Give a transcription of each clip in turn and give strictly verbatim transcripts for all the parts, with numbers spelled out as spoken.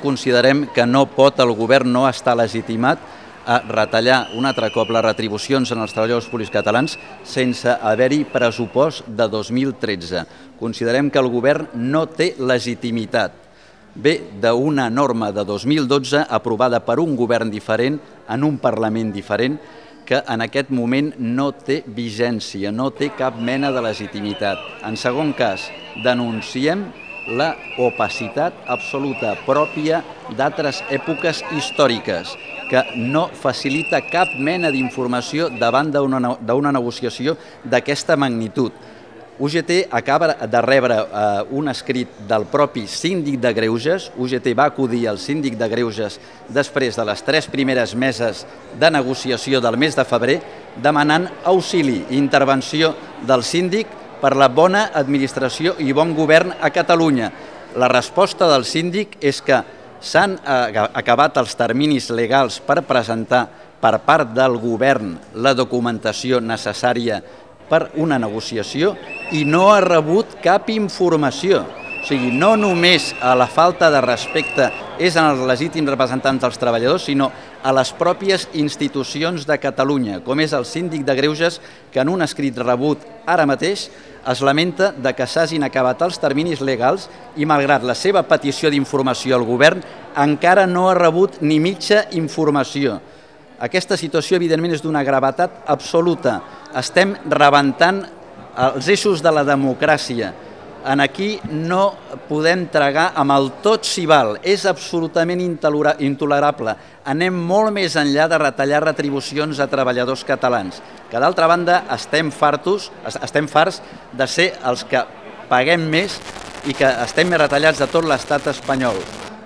Considerem que no pot el govern no estar legitimat a retallar un altre cop les retribucions en els treballadors públics catalans sense haver-hi pressupost de dos mil tretze. Considerem que el govern no té legitimitat. Ve d'una norma de dos mil dotze aprovada per un govern diferent en un Parlament diferent que en aquest moment no té vigència, no té cap mena de legitimitat. En segon cas, denunciem la opacitat absoluta pròpia d'altres èpoques històriques que no facilita cap mena d'informació davant d'una negociació d'aquesta magnitud. U G T acaba de rebre un escrit del propi síndic de Greuges. U G T va acudir al síndic de Greuges després de les tres primeres meses de negociació del mes de febrer demanant auxili i intervenció del síndic per la bona administració i bon govern a Catalunya. La resposta del síndic és que s'han acabat els terminis legals per presentar per part del govern la documentació necessària per una negociació i no ha rebut cap informació. O sigui, no només a la falta de respecte és en els legítims representants dels treballadors, sinó a les pròpies institucions de Catalunya, com és el síndic de Greuges, que en un escrit rebut ara mateix es lamenta de que s'hagin acabat els terminis legals i, malgrat la seva petició d'informació al govern, encara no ha rebut ni mitja informació. Aquesta situació, evidentment, és d'una gravetat absoluta. Estem rebentant els eixos de la democràcia. Aquí no podem tragar amb el tot s'hi val. És absolutament intolerable. Anem molt més enllà de retallar retribucions a treballadors catalans, que d'altra banda estem fartos, estem farts de ser els que paguem més i que estem més retallats de tot l'estat espanyol.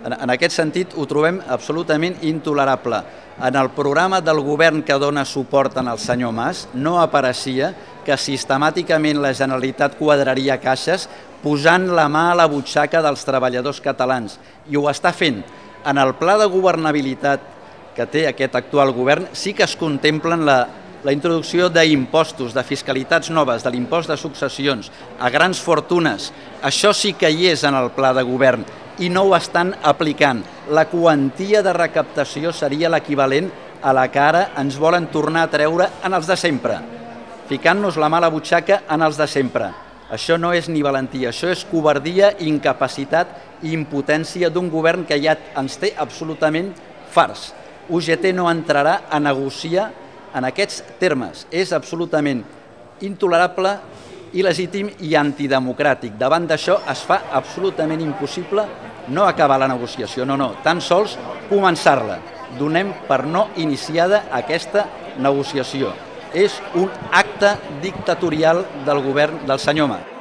En aquest sentit ho trobem absolutament intolerable. En el programa del govern que dona suport al senyor Mas no apareixia que sistemàticament la Generalitat quadraria caixes posant la mà a la butxaca dels treballadors catalans. I ho està fent. En el pla de governabilitat que té aquest actual govern sí que es contemplen la, la introducció d'impostos, de fiscalitats noves, de l'impost de successions, a grans fortunes. Això sí que hi és en el pla de govern i no ho estan aplicant. La quantia de recaptació seria l'equivalent a la que ara ens volen tornar a treure en els de sempre, ficant-nos la mà a la butxaca en els de sempre. Això no és ni valentia, això és covardia, incapacitat i impotència d'un govern que ja ens té absolutament farts. U G T no entrarà a negociar en aquests termes. És absolutament intolerable, il·legítim i antidemocràtic. Davant d'això es fa absolutament impossible no acabar la negociació, no, no, tan sols començar-la. Donem per no iniciada aquesta negociació. És un acte dictatorial del govern del senyor Mas.